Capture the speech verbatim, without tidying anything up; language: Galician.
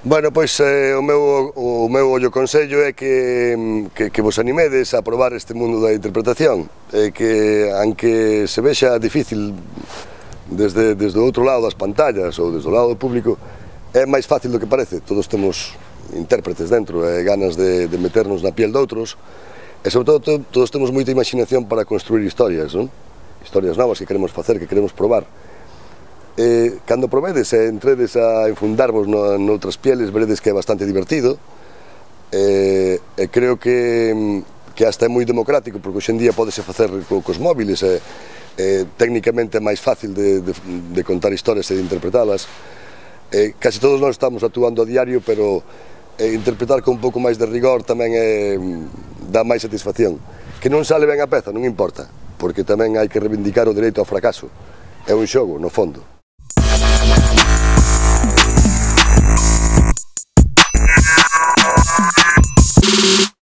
Bueno, pois eh, o meu, o meu ollo consello é que, que, que vos animedes a probar este mundo da interpretación, e que, aunque se vexa difícil desde, desde o outro lado das pantallas ou desde o lado do público, é máis fácil do que parece. Todos temos intérpretes dentro e ganas de, de meternos na piel de outros, e sobre todo todos temos moita imaginación para construir historias, non? Historias novas que queremos facer, que queremos probar. E, cando probedes e entredes a enfundarvos no, noutras pieles, veredes que é bastante divertido, e, e creo que, que hasta é moi democrático, porque hoxe en día podese facer co, cos móviles, e, e técnicamente é máis fácil de, de, de contar historias e de interpretalas. E, casi todos nós estamos actuando a diario, pero e, interpretar con un pouco máis de rigor tamén é, dá máis satisfacción. Que non sale ben a peza, non importa, porque tamén hai que reivindicar o dereito ao fracaso. É un xogo, no fondo.